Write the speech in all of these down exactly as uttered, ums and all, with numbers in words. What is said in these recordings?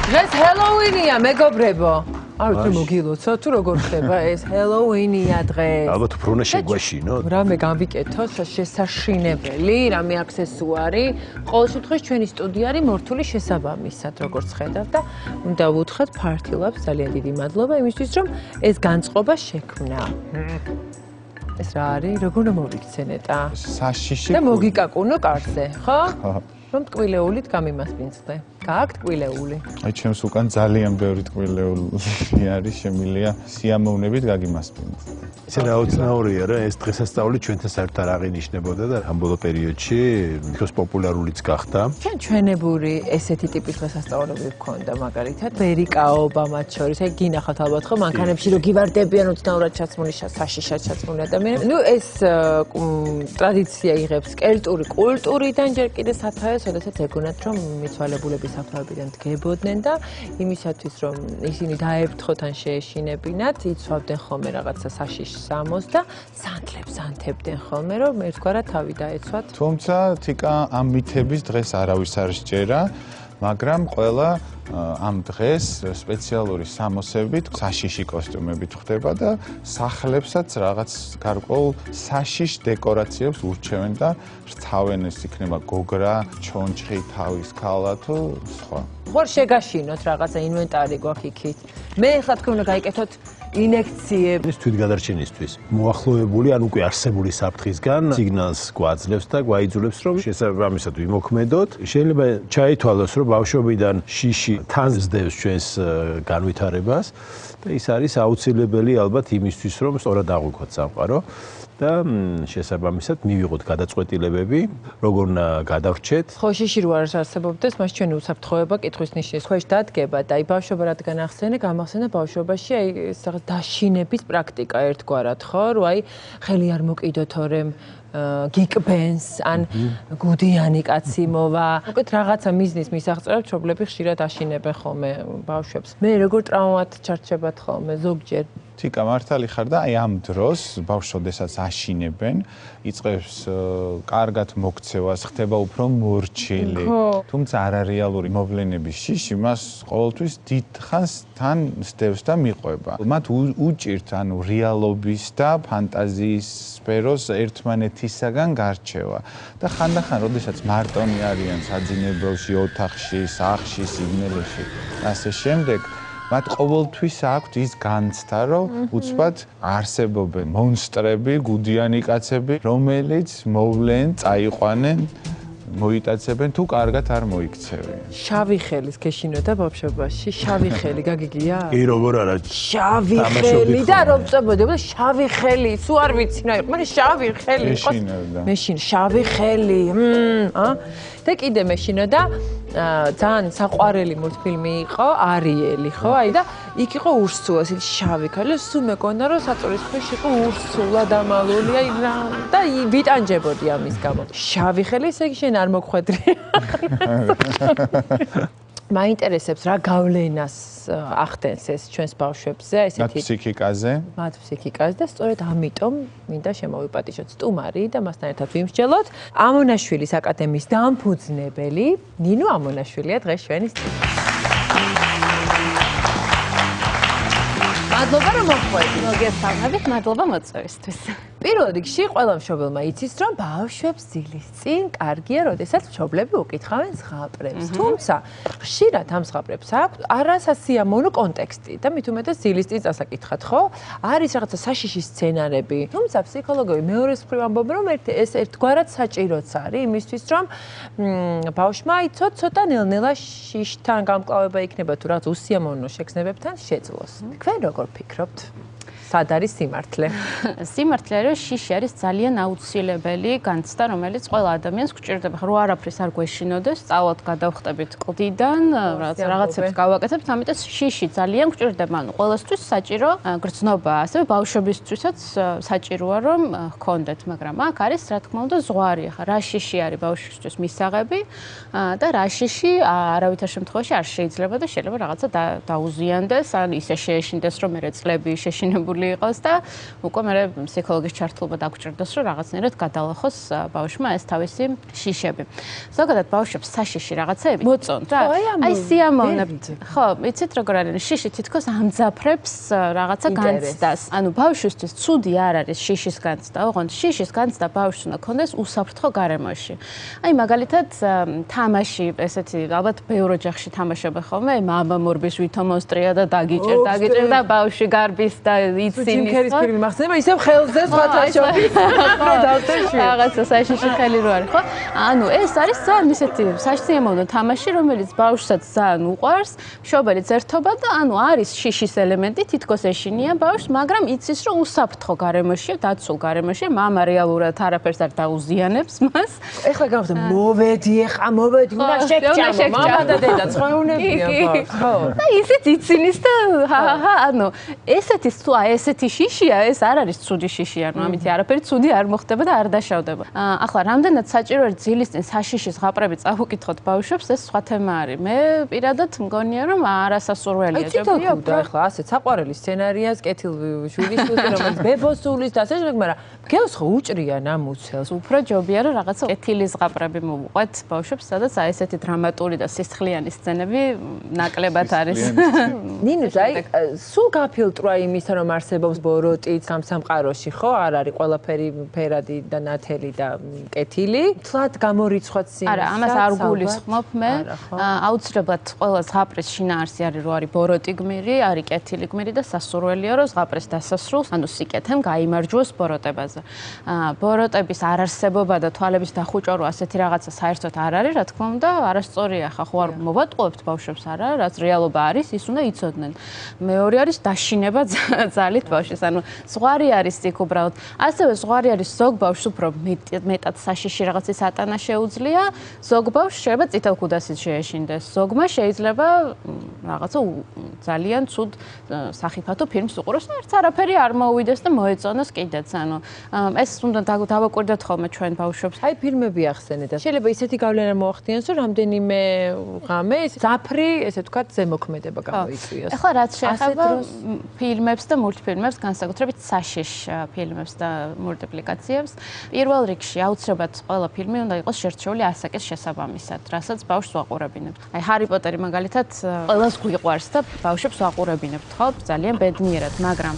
დღეს ჰელოუინია, მეგობრებო. არ ვიცი მოგილოცო თუ როგორ ხდება ეს ჰელოუინია დღეს. ალბათ უფრო უნდა შეგვაშინოთ. რამე გამვიკეთოთ შესაშინებელი, რამე აქსესუარი. ყოველ შემთხვევაში ჩვენი სტუდია არის მორთული შესაბამისად, როგორც ხედავ და უნდა ვუთხრათ ფართილებს ძალიან დიდი მადლობა იმისთვის, რომ ეს განწყობა შექმნა. ეს რა არის? როგორ უნდა მოვიქცენეთ ა? საშიში. და მოგიკაკუნო კარზე, ხო? რომ ტკვილეულით გამიმასპინძლე. გააქვთ ტკვილეული? აი ჩემს უკან ძალიან ბევრი ტკვილეული არის, შემილია სიამოვნებით გაგიმასპინძლე. ისე რაოცნაურია რა, ეს დღესასწაული ჩვენთან საერთოდ არ აღინიშნებოდა და ამ ბოლო პერიოდში თვითონ პოპულარულიც გახდა. ჩვენ ჩვენებური ესეთი ტიპის დღესასწაულები გვქონდა მაგალითად, ვერიკაობა მათ შორის, აი გინახავთ ალბათ ხო, მანქანებში რო გივარდებიან უცნაურად ჩაცმული საშიშად ჩაცმული ადამიანები. ნუ ეს ტრადიცია იღებს კელტური კულტურიდან ჯერ კიდე სათავეს, როდესაც ეგონათ რომ მიცვალებულების საფლავებიდან დგებოდნენ და იმისათვის რომ ისინი დაეფრთხოთ ან შეეშინებინათ, იცვავდნენ ხოლმე რაღაცა საშიშს სამოს და სანთლებს ანთებდნენ ხოლმე რომ ერთგვარად თავი დაეცვათ. თუმცა თიკა ამ მითების დღეს არავის არ სჯერა, მაგრამ ყველა ამ დღეს სპეციალური სამოსებით, საშიში კოსტიუმებით ხდება და სახლებსაც რაღაც გარკვეულ საშიშ დეკორაციებს ურჩევენ და რთავენ, ეს იქნება გოგრა, ჩონჩხი, თავის ქალა თუ სხვა. ხوار შეგაშინოთ რაღაცა ინვენტარი გვაქვს იქით. მე ხა თქვენ უნდა გაიკეთოთ ინექციები. ეს თვითგადარჩენისთვის მოახლოებული ან უკვე არსებული საფრთხისგან სიგნალს გვაძლევს და გვაიძულებს რომ შესაბამისად ვიმოქმედოთ. შეიძლება ჩაითვალოს რომ ბავშვობიდან შიში თან ზდევს ჩვენს განვითარებას და ის არის აუცილებელი ალბათ იმისთვის რომ სწორად აღვიქვათ სამყარო და შესაბამისად მივიღოთ გადაწყვეტილებები, როგორ უნდა გადავრჩეთ. ხო, შიში რო არ არსებობდეს, მას ჩვენი უსაფრთხოება კითხვის ნიშნის ქვეშ დადგება და აი ბავშვობა რადგან ახსენე, გამახსენე ბავშვობაში აი ეს რაღაც დაშინების პრაქტიკა ერთგვარად, ხო, რომ აი ხელი არ მოკიდო თორემ გიკბენს ან გუდიანი კაცი მოვა. უკეთ რაღაცა მიზნის მისაღწევად მშობლები ხშირად აშინებენ ხოლმე ბავშვებს. მე როგორ ტრაუმად ჩარჩებათ ხოლმე ზოგჯერ. თიკა მართალი ხარ და აი ამ დროს ბავშვობდესაც აშინებენ, იწყებს კარგად მოქცევას, ხდება უფრო მორჩილი. თუმცა არარეალური მოვლენების შიში მას ყოველთვის დიდ ხანს თან სდევს და მიყვება. მათ უჭირთ ანუ რეალობის და ფანტაზიის სფეროს ერთმანეთისაგან გარჩევა. და ხანდახან, როდესაც მარტონი არიან საძინებელში, ოთახში, სახლში, სიგნელეში და ასე შემდეგ მათ ყოველთვის აქვთ ის განცდა, რომ უცბად არსებობენ მონსტრები, გუდიანი კაცები, რომელიც მოვლენ, წაიყვანენ, მოიტაცებენ თუ კარგად არ მოიქცევენ. შავი ხელის გეშინოდა ბავშვობაში, შავი ხელი გაგიგია? კი, როგორ არა. შავი ხელი და რომ წებოდი, შავი ხელი, სულ არ ვიცი რა იყო, მაგრამ შავი ხელი იყო. მეშინოდა. მეშინ შავი ხელი, ა? და კიდე მეშინოდა ძალიან საყვარელი მულტფილმი იყო არიელი, ხო? აი და იქ იყო ურსულა, ისეთი შავი ქალი, სულ მეკონა რომ საწურის ქვეშ იყო ურსულა დამალული, აი რა და ვიტანჯებოდი ამის გამო. შავი ხელი, ესე იგი შენ არ მოგხვედრი. მაინტერესებს რა გავლენას ახდენს ეს ჩვენს ბავშვებზე, ესეთი მათ ფსიქიკაზე. მათ ფსიქიკაზე და სწორედ ამიტომ მინდა შემოვიპატიჟოთ სტუმარი და მასთან ერთად ვიმსჯელოთ ამონაშვილის აკადემიის დამფუძნებელი ნინო ამონაშვილია დღეს ჩვენი სტუმარი. მადლობა რომ მოხვედით. მოგესალმებით, მადლობა მოწვევისთვის. პირველ რიგში ყველა მშობელმა იცის, რომ ბავშვებს ძილის წინ კარგია, როდესაც მშობლები უკითხავენ ზღაპრებს. თუმცა, ხშირად ამ ზღაპრებს აქვს არასასიამოვნო კონტექსტი და მით უმეტეს ძილის წინ წასაკითხათ, ხო? არის რაღაცა საშიში სცენარები. თუმცა ფსიქოლოგები მეორეს მხრივ ამბობენ, რომ ეს ერთგვარად საჭიროც არის იმისთვის, რომ ბავშვმა იცოთ ცოტა ნელ-ნელა შიშთან გამკლავება იქნება თუ რაღაც უსიამოვნო შექნებებთან შეძლოს. თქვენ როგორ ფიქრობთ? სად არის სიმართლე? სიმართლე არის, შიში არის ძალიან აუცილებელი განცდა, რომელიც ყველა ადამიანს გვჭირდება. რო არაფრის არ გვეშინოდეს, სწავლად გადავხტებით კლდიდან, რაღაცებს გავაკეთებთ, ამიტომ შიში ძალიან გვჭირდება. ანუ ყველასთვის საჭირო გრძნობა, ასევე ბავშვებისთვისაც საჭიროა რომ ჰქონდეთ, მაგრამ აქ არის რა თქმა უნდა ზღვარი. ახლა რა შიში არის ბავშვისთვის მისაღები და რა შიში არავითარ შემთხვევაში არ შეიძლება და შეიძლება რაღაცა დაუზიანდეს, ან ისე შეეშინდეს, რომ მე წლები შეშინებული დაკავებული იყოს და უკვე მე ფსიქოლოგის ჩართულობა დაგჭირდეს, რომ რაღაცნაირად გადალახოს ბავშვმა ეს თავისი შიშები. ზოგადად ბავშვებს საშიში რაღაცეები მოწონთ რა. აი სიამოვნებთ. ხო, იცით როგორ არის შიში თითქოს ამძაფრებს რაღაცა განცდას. ანუ ბავშვისთვის ცუდი არ არის შიშის განცდა, ოღონდ შიშის განცდა ბავშვს უნდა ქონდეს უსაფრთხო გარემოში. აი მაგალითად თამაში, ესეთი ალბათ ბევრ ოჯახში თამაშობ ხოლმე, მამა მორბის ვითო მოსტრია და დაგიჭერ, დაგიჭერ და ბავშვი გარბის და იცინის. ჯიმ კერის ფილმი მახსენდება, ისევ ხელზე სხვათა შორის. რაღაცა საშიში ხელი რო არის, ხო? ანუ ეს არის ძალიან ისეთი საშიამოვნო თამაში, რომელიც ბავშვსაც ძალიან უყვარს, მშობელიც ერთობა და ანუ არის შიშის ელემენტი, თითქოს ეშინია ბავშვს, მაგრამ იცის რომ უსაფრთხო გარემოშია, დაცულ გარემოშია, მამა რეალურად არაფერს არ დაუზიანებს მას. ეხლა გავხდე, მოვედი, ეხა მოვედი, უნდა შეგჭამო, მამა და დედა ცხეუნებია ბავშვს, ხო? და ისიც იცინის და ჰაჰა, ანუ ესეთი თუ აი ესეთი შიშია, ეს არ არის ცუდი შიში, ანუ ამით არაფერი ცუდი არ მოხდება და არ დაშავდება. ახლა რამდენად საჭირო არის ძილის წინ საშიშის ზღაპრები წავუკითხოთ ბავშვებს, ეს სხვა თემა არის. მე პირადად მგონია რომ არასასურველია. ჯობია და ახლა ასეთ საყვარელი სცენარიას კეთილ შვილის თუზე რომელიც ბებოსულის და ასე შემდეგ, მაგრამ გელს ხო უჭრია ნამუცელს. უფრო ჯობია რომ რაღაცა კეთილი ზღაპრები მოვუყვეთ ბავშვებს, სადაც აი ესეთი დრამატული და სისხლიანი სცენები ნაკლებად არის. ნინო, აი სულ გაფილტრა იმისა რომ არსებობს ბოროტიც სამსამყაროში, ხო? არ არის ყველაფერი ფერადი და ნათელი და კეთილი. თლად გამორიცხვათ სიმს. არა, ამას არ გულისხმობ მე. აუცილებლად ყველა ზღაპრის შინაარსი არის რომ არის ბოროტი გმირი, არის კეთილი გმირი და სასურველია რომ ზღაპრის დასასრულს, ანუ სიკეთემ გაიმარჯვოს ბოროტებაზე. ბოროტების არარსებობა და თვალების დახუჭვა რო ასეთი რაღაცა საერთოდ არ არის, რა თქმა უნდა, არასწორია ხა, ხო არ მოვატყუებთ ბავშვებს არა, რაც რეალობა არის, ის უნდა იცოდნენ. მეორე არის დაშინება ძალით ბავშვის, ანუ ზღვარი არის იქ უბრალოდ. ასევე ზღვარი არის ზოგ ბავშვს უფრო მეტად საშიში რაღაცის ატანა შეუძლია, ზოგ ბავშვს შეიძლება წითელ ქუდასით შეეშინდეს, ზოგმა შეიძლება რაღაცა ძალიან ცუდ სახიფათო ფილმს უყუროს და ერთს არაფერი არ მოუვიდეს და მოეწონოს კიდეც, ანუ ეს უნდა დავაკვირდეთ ხოლმე ჩვენ ბავშვებს. აი ფილმები ახსენეთ და შეიძლება ისეთი გავლენა მოახდინოს, რომ რამდენიმე ღამე ზაფრი, ესე ვთქვათ, ზემოქმედება გამოიწვიოს. ახლა რაც შეეხება ფილმებს და მულტფილმებს, განსაკუთრებით საშიშ ფილმებს და მულტიპლიკაციებს, პირველ რიგში აუცილებლად ყველა ფილმი უნდა იყოს შერჩეული ასაკის შესაბამისად, რასაც ბავშვს ვაყურებინებთ. აი ჰარი პოტერი მაგალითად ყველას გვიყვარს და ბავშვებს ვაყურებინებთ, ხო? ძალიან ბედნიერად, მაგრამ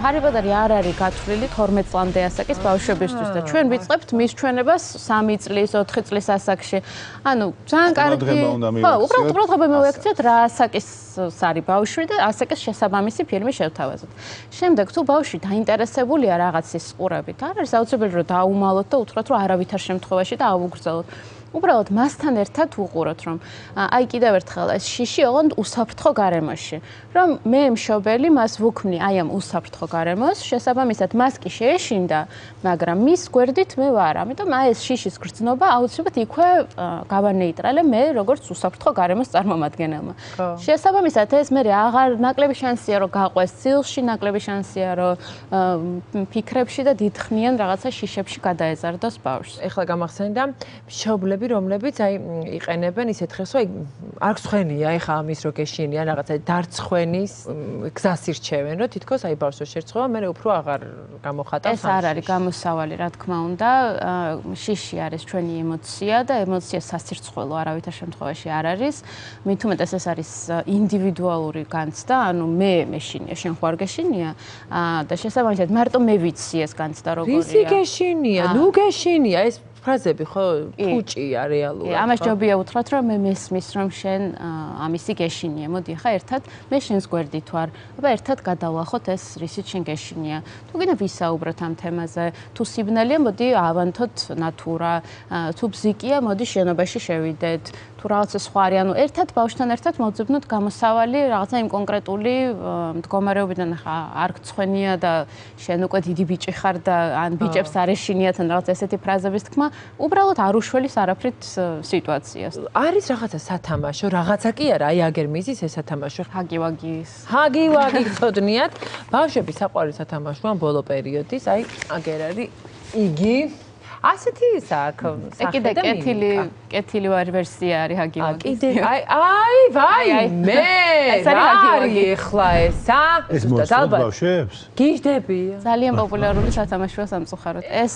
ჰარი პოტერი არ არის გათვლილი თორმეტ წლამდე ასაკის ბავშვებისთვის და ჩვენ ვიწყებთ მის ჩვენებას სამი წლის, ოთხი წლის ასაკში. ანუ ძალიან კარგი. ხო, უბრალოდ უბრალოდ მოვექცეთ რა ასაკის არის ბავშვი და ასაკის შესაბამისი ფილმი შევთავაზოთ. შემდეგ თუ ბავშვი დაინტერესებულია რაღაცის ყურებით, არ არის აუცილებელი რომ დაუმალოთ და უთხრათ რომ არავითარ შემთხვევაში და ავუგრძელოთ. უბრალოდ მასთან ერთად უყუროთ რომ აი კიდევ ერთხელ ეს შიში ოღონდ უსაფრთხო გარემოში რომ მე მშობელი მას ვუქმნი აი ამ უსაფრთხო გარემოს შესაბამისად მას კი შეეშინდა მაგრამ მის გვერდით მე ვარ ამიტომ აი ეს შიშის გრძნობა აუცილებლად იქვე გავანეიტრალე მე როგორც უსაფრთხო გარემოს წარმომადგენელმა შესაბამისად ეს მე აღარ ნაკლები შანსია რომ გაყვეს ცილში ნაკლები შანსია რომ ფიქრებში და დიდხნიან რაღაცა შიშებში გადაეზარდოს ბავშვს ეხლა გამახსენდა მშობლები რომლებიც აი იყენებენ ისეთ ხელს, აი არ გსხვენია, ეხა ამის რო გეშინიან რაღაცა დარცხვენის გზას ირჩევენ, რომ თითქოს აი ბავშვს შეერცხება, მე უფრო აღარ გამოხატავს. ეს არ არის გამოსავალი, რა თქმა უნდა, შიში არის ჩვენი ემოცია და ემოცია სასირცხველო არავითარ შემთხვევაში არ არის. მით უმეტეს ეს არის ინდივიდუალური განცდა, ანუ მე მეშინია, შენ ხო არ გეშინია და შესაბამისად მარტო მე ვიცი ეს განცდა როგორია. ვისი გეშინია, ნუ გეშინია ეს ფრაზები ხო ფუჭია რეალურად. ამას ჯობია უთხრათ რომ მე მესმის რომ შენ ამისი გეშინია. მოდი ხა ერთად მე შენს გვერდით ვარ. აბა ერთად გადავლახოთ ეს რისიც შენ გეშინია. თუ გინდა ვისაუბროთ ამ თემაზე. თუ სიბნელეა მოდი ავანთოთ ნატურა. თუ ბზიკია მოდი შენობაში შევიდეთ. თუ რაღაცა სხვა არის, ანუ ერთად ბავშვთან ერთად მოვძებნოთ გამოსავალი რაღაცა იმ კონკრეტული მდგომარეობიდან ხა არ გწხვენია და შენ უკვე დიდი ბიჭი ხარ და ან ბიჭებს არ ეშინიათ ან რაღაც ესეთი ფრაზების თქმა უბრალოდ არ უშველის არაფრით სიტუაციას. არის რაღაცა სათამაშო, რაღაცა კი არა, აი აგერ მიზის ეს სათამაშო. ჰაგი-ვაგის. ჰაგი-ვაგი გწოდნიათ. ბავშვების საყვარელი სათამაშოა ბოლო პერიოდის, აი აგერ არის იგი ასეთი აქ სახე და კეთილი კეთილი ვერსია არის ჰაგივაგის. კიდე აი აი ვაი მე რა არის ახლა ესა? ეს მოსწონთ ბავშვებს? გიждები. ძალიან პოპულარული სათამაშოა სამწუხაროდ. ეს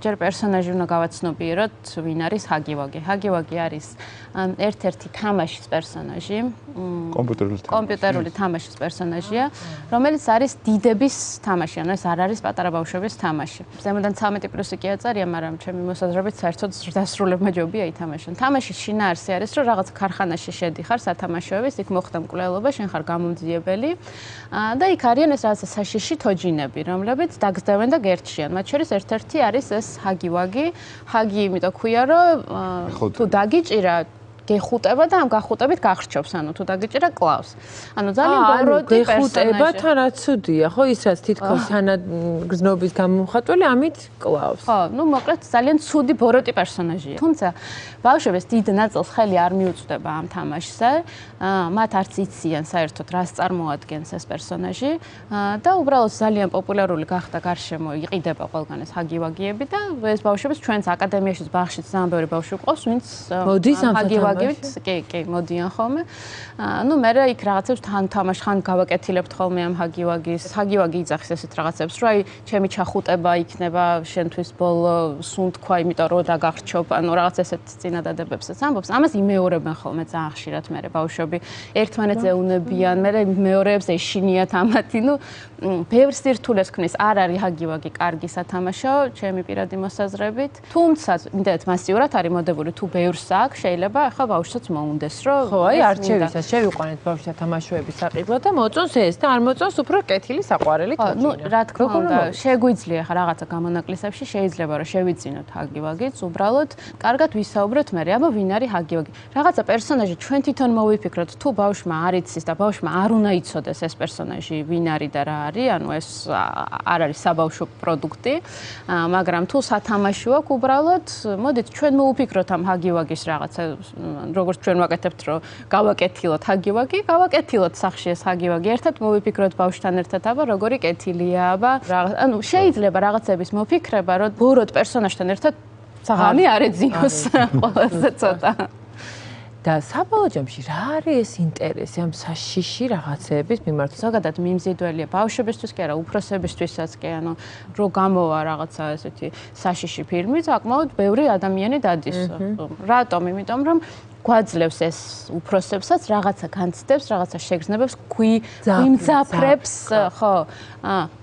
ჯერ პერსონაჟი უნდა გავაცნობიეროთ, ვინ არის ჰაგივაგი. ჰაგივაგი არის ერთ-ერთი თამაშის პერსონაჟი. კომპიუტერული თამაში. კომპიუტერული თამაშის პერსონაჟია, რომელიც არის დიდების თამაში, ანუ ეს არ არის პატარა ბავშვების თამაში. ზემოდან ცამეტი პლუსი კი აწარია, მაგრამ ჩემი მოსაზრებით საერთოდ დასრულებმა ჯობია ითამაშონ. თამაშის შინაარსი არის, რომ რაღაც ქარხანაში შედიხარ სათამაშოების, იქ მოხდა მკვლელობა, შენ ხარ გამომძიებელი და იქ არიან ეს რაღაცა საშიში თოჯინები, რომლებიც დაგზდევენ და გერჩიან. მათ შორის ერთ-ერთი არის ეს ჰაგივაგი. ჰაგი იმიტომ ქვია, რომ თუ დაგიჭირა გეხუტება და ამ გახუტებით გახრჩობს, ანუ თუ დაგიჭირა კლავს. ანუ ძალიან ბოროტი პერსონაჟი. გეხუტება თანაც ცუდია, ხო, ის რაც თითქოს თანაგზნობის გამომხატველი ამით კლავს. ხო, ну, მოკლედ ძალიან ცუდი ბოროტი პერსონაჟია. თუმცა ბავშვებს დიდ ნაწილს ხელი არ მიუწვდება ამ თამაშზე. მათ არც იციან საერთოდ რას წარმოადგენს ეს პერსონაჟი და უბრალოდ ძალიან პოპულარული გახდა გარშემო, იყიდება ყველგან ეს ჰაგივაგიები და ეს ბავშვებს ჩვენს აკადემიაშიც ბაღშიც ძალიან ბევრი ბავშვი ყავს, ვინც მოდის ამ ჰაგივაგივით, კი, კი, მოდიან ხოლმე. ну, მე იქ რაღაცებს თან თამაშ ხან გავაკეთილებთ ხოლმე ამ ჰაგივაგის. ჰაგივაგი იძახის ესეთ რაღაცებს, რომ აი, ჩემი ჩახუტება იქნება შენთვის ბოლო სუნთქვა, იმიტომ რომ დაგახრჩობ, ანუ რაღაც ესეთ წინადადებებსაც ამბობს. ამას იმეორებენ ხოლმე ძალიან ხშირად მე ბავშვები. ერთმანეთს ეუნებიან, მე მეორეებს ეშინიათ ამათი, ну, ბევრ სირთულეს ქმნის. არ არის ჰაგივაგი კარგი სათამაშო, ჩემი პირადი მოსაზრებით. თუმცა, იმდენად მასიურად არის მოდებული, თუ ბევრს აქვს, შეიძლება ახლა ბავშვსაც მოუნდეს, რომ ხო, აი არჩევისაც შევიყვანეთ ბავშვთა თამაშოების საყიდლად და მოწონს ეს და არ მოწონს უფრო კეთილი საყვარელი თოჯინა. ну, რა თქმა უნდა, შეგვიძლია ახლა რაღაცა გამონაკლისებში შეიძლება რომ შევიძინოთ ჰაგივაგიც, უბრალოდ კარგად ვისაუბროთ მე, აბა ვინ არის ჰაგივაგი. რაღაცა პერსონაჟი ჩვენ თვითონ მოვიფიქროთ, თუ ბავშვმა არ იცის და ბავშვმა არ უნდა იცოდეს ეს პერსონაჟი ვინ არის და რა არის, ანუ ეს არ არის საბავშვო პროდუქტი, მაგრამ თუ სათამაშო აქვს, უბრალოდ მოდით ჩვენ მოვიფიქროთ ამ ჰაგივაგის რაღაცა, როგორც ჩვენ ვაკეთებთ, რომ გავაკეთილოთ ჰაგივაგი, გავაკეთილოთ სახში ეს ჰაგივაგი, ერთად მოვიფიქროთ ბავშვთან ერთად, აბა როგორი კეთილია, აბა ანუ შეიძლება რაღაცების მოფიქრება, რომ ბოროტ პერსონაჟთან ერთად საღამი არ ეძინოს ყველაზე ცოტა. და საბოლოო ჯამში რა არის ეს ინტერესი ამ საშიში რაღაცეების მიმართ? ზოგადად მიმზიდველია ბავშვებისთვის კი არა, უფროსებისთვისაც კი, ანუ რო გამოვა რაღაცა ესეთი საშიში ფილმი, საკმაოდ ბევრი ადამიანი დადის. რატომ? იმიტომ რომ გვაძლევს ეს უფროსებსაც რაღაცა განცდებს, რაღაცა შეგრძნებებს, გვიმძაფრებს, ხო.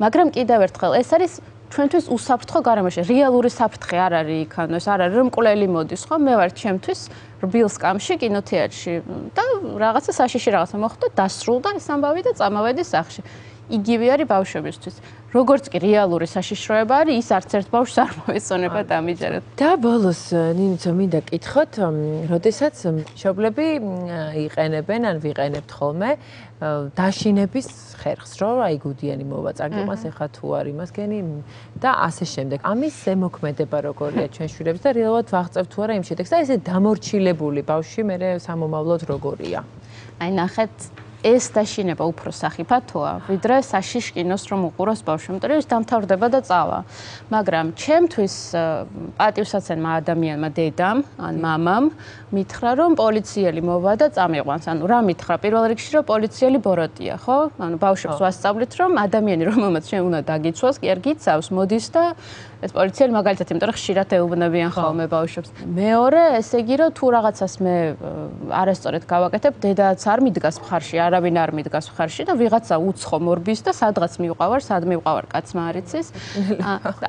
მაგრამ კიდევ ერთხელ ეს არის ჩვენთვის უსაფრთხო გარემოში. რეალური საფრთხე არ არის იქ, ანუ ეს არ არის რომ მკვლელი მოდის, ხო? მე ვარ ჩემთვის რბილ სკამში კინოთეატრში და რაღაცა საშიში რაღაცა მოხდა, დასრულდა ეს ამბავი და წამოვედი სახლში. იგივე არის ბავშვებისთვის. როგორც კი რეალური საშიშროება არის, ის არც ერთ ბავშვს არ მოეწონება დამიჯეროთ. და ბოლოს ნინიცო მინდა კითხოთ, როდესაც მშობლები იყენებენ ან ვიყენებთ ხოლმე დაშინების ხერხს, რომ აი გუდიანი მოვაწაგიმას, ეხა თუ არ იმას გენი და ასე შემდეგ. ამის ზემოქმედება როგორია ჩვენ შვილებს და რეალურად ვაღწევთ თუ არა იმ შედეგს და ესე დამორჩილებული ბავშვი მე სამომავლოდ როგორია? აი ნახეთ ეს დაშინება უფრო სახიფათოა, ვიდრე საშიშ კინოს რომ უყუროს ბავშვი, იმიტომ რომ ის დამთავრდება და წავა. მაგრამ ჩემთვის პატივსაცემმა ადამიანმა დედამ ან მამამ მითხრა რომ პოლიციელი მოვა და წამიყვანს. ანუ რა მითხრა? პირველ რიგში რომ პოლიციელი ბოროტია, ხო? ანუ ბავშვებს ვასწავლით რომ ადამიანი რომელმაც შენ უნდა დაგიცვას, კი არ გიცავს, მოდის და ეს პოლიციელი მაგალითად, იმიტომ რომ ხშირად ეუბნებიან ხოლმე ბავშვებს. მეორე, ესე იგი რომ თუ რაღაცას მე არასწორად გავაკეთებ, დედაც არ მიდგას მხარში, არავინ არ მიდგას მხარში და ვიღაცა უცხო მორბის და სადღაც მივყავარ, სად მივყავარ, კაცმა არ იცის.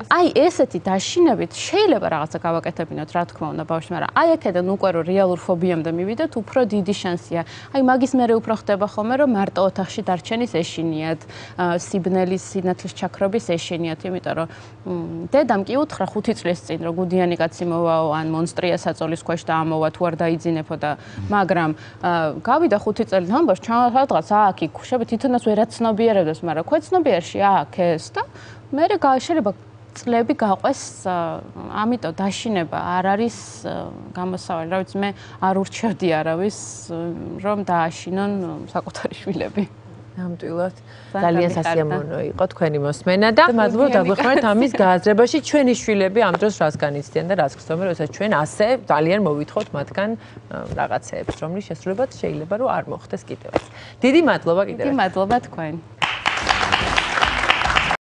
აი ესეთი დაშინებით შეიძლება რაღაცა გავაკეთებინოთ, რა თქმა უნდა ბავშვს, მაგრამ აი აქედან უკვე რომ რეალურ ფობიამდე მივიდეთ, უფრო დიდი შანსია. აი მაგის მერე უფრო ხდება ხოლმე რომ მარტო ოთახში დარჩენის ეშინიათ, სიბნელის, სინათლის ჩაქრობის ეშინიათ, იმიტომ რომ დედამ კი უთხრა ხუთი წლის წინ რომ გუდიანი კაცი მოვაო ან მონსტრია საწოლის ქვეშ და ამოვა თუ არ დაიძინებო და მაგრამ გავიდა ხუთი წელი ამბავს ჩამოადგა აქ იქ ხუშები თვითონაც ვერაცნობიერებდეს მაგრამ ქვეცნობიერში აქ ეს და მე შეიძლება წლები გაყვეს ამიტომ დაშინება არ არის გამოსავალი რა ვიცი მე არ ურჩევდი არავის რომ დააშინონ საკუთარი შვილები ნამდვილად ძალიან სასიამოვნო იყო თქვენი მოსმენა და მადლობა დაგვეხმარეთ ამის გააზრებაში. ჩვენი შვილები ამ დროს რას განიცდიან და რას ხსოვენ, როდესაც ჩვენ ასე ძალიან მოვითხოვთ მათგან რაღაცეებს, რომლის შესრულებაც შეიძლება რომ არ მოხდეს კიდევაც. დიდი მადლობა კიდევ. დიდი მადლობა თქვენ.